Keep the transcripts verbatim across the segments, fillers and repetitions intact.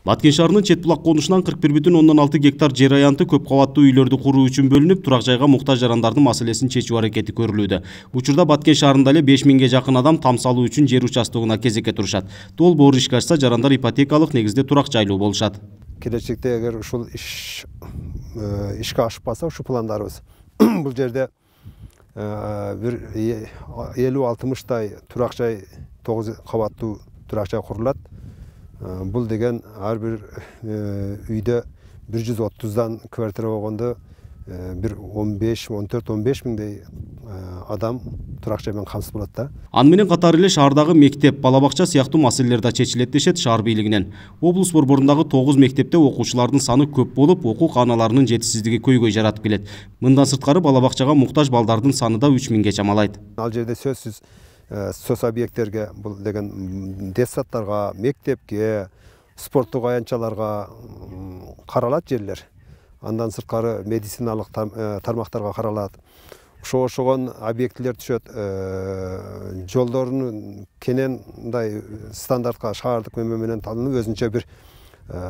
Баткен шаарынын чет булак конушунан кырк бир бүтүн ондон алты гектар жер аянты көп кабаттуу үйлөрдү куруу үчүн бөлүнүп, турак жайга муктаж жарандардын маселесин чечүү аракети көрүлүүдө. Учурда Баткен шаарында эле беш миңге жакын адам там салуу үчүн жер участогуна кезекке турушат. Долбоор ишке ашса, жарандар ипотекалык негизде турак жайлуу болушат. Келечекте эгер ушул иш ишке ашпаса, ушу пландарыбыз бул жерде бир элүү алтымыштай турак жай, тогуз кабаттуу турак жай курулат. Бул деген ар бир үйдө бир жүз отуздан квартира болгондо бир он беш, он төрт, он беш миңдей адам турак жай менен камсыз болот да. Аны менен катары эле шаардагы мектеп, бала бакча сыяктуу маселелер да чечилет дешет шаар бийлигинен. Облус борборундагы тогуз мектепте окуучулардын саны көп болуп, окуу кааналарынын жетишсиздиги көйгөй жаратып келет. Мындан сырткары бала бакчага муктаж балдардын саны да үч миңге чамалайт. Ал жерде сөзсүз соц объекттерге, бул деген детсадтарга, мектепке, спорттук аянтчаларга каралат жерлер. Андан сырткары медициналык тармактарга каралат. Ошо ошогон объектилер түшөт. Жолдордун кенен мындай стандартка шаардык мөмө менен талынып, өзүнчө бир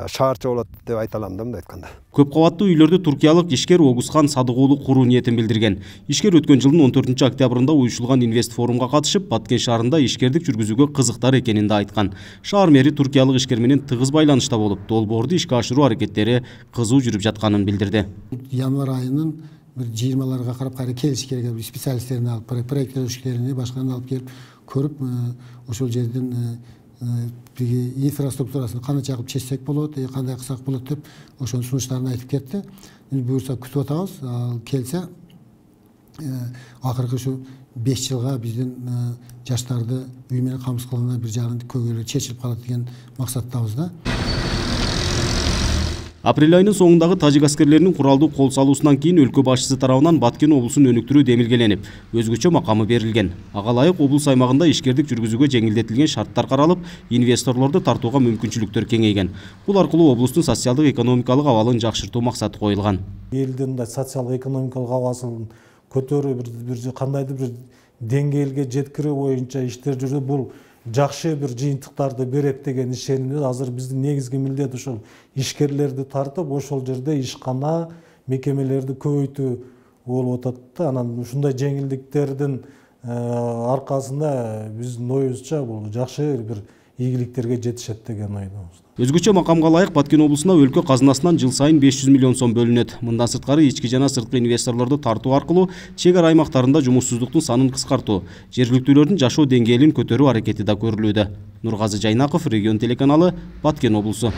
шаарча болот деп айта алам да, мындай айтканда. Көп кабаттуу үйлөрдү туркиялык ишкер Огузхан Садыгуулу куруу ниетин билдирген. Ишкер өткөн жылдын он төртүнчү октябрында уюшулган инвест форумга катышып, Баткен шаарында ишкердик жүргүзүүгө кызыктар экенин да айткан. Шаар мэри туркиялык ишкер менен тыгыз байланышта болуп, долбоорду ишке ашыруу аракеттери кызуу жүрүп жатканын билдирди. Январь айынын бир жыйырмаларга карап кайра келиш керек, специалисттерин алып, проекттөөчүлөрүн башкаларын алып келип көрүп, ошол жерден инфраструктурасын кандай чагып чечсек болот, кандай кылсак болот деп ошонун сунуштарын айтып кетти. Буюрса күтүп атабыз. Ал келсе, акыркы ушу беш жылга биздин жаштарды үй менен камсыз кылганда бир жагынан көйгөйлөр чечилип калат деген максаттабыз да. Апрель айынын соңундагы тажик аскерлеринин куралдуу кол салуусунан кийин өлкө башчысы тарабынан Баткен облусун өнүктүрүү демилгеленип, өзгөчө макамы берилген. Ага ылайык облус аймагында ишкердик жүргүзүүгө жеңилдетилген шарттар каралып, инвесторлорду тартууга мүмкүнчүлүктөр кеңейген. Бул аркылуу облустун социалдык экономикалык абалын жакшыртуу максаты коюлган. Элдин социалдык экономикалык абасын көтөрүү, бир кандайдыр бир деңгээлге жеткирүү боюнча иштер жүрүп, бул жакшы бир жыйынтыктарды берет деген ишенимде. Азыр биздин негизги милдет ушул ишкерлерди тартып, ошол жерде ишкана, мекемелерди көбөйтүү болуп атат. Анан ушундай жеңилдиктердин аркасында биздин оюбузча бул жакшы бир ийгиликтерге жетишет деген ойдобуз. Өзгөчө макамга ылайык Баткен облусуна өлкө казынасынан жыл сайын беш жүз миллион сом бөлүнөт. Мындан сырткары ички жана сырткы инвесторлорду тартуу аркылуу чек ара аймактарында жумушсуздуктун санын кыскартуу, жергиликтүүлөрдүн жашоо деңгээлин көтөрүү аракети да көрүлүүдө. Нургазы Жайнаков, Регион телеканалы, Баткен облусу.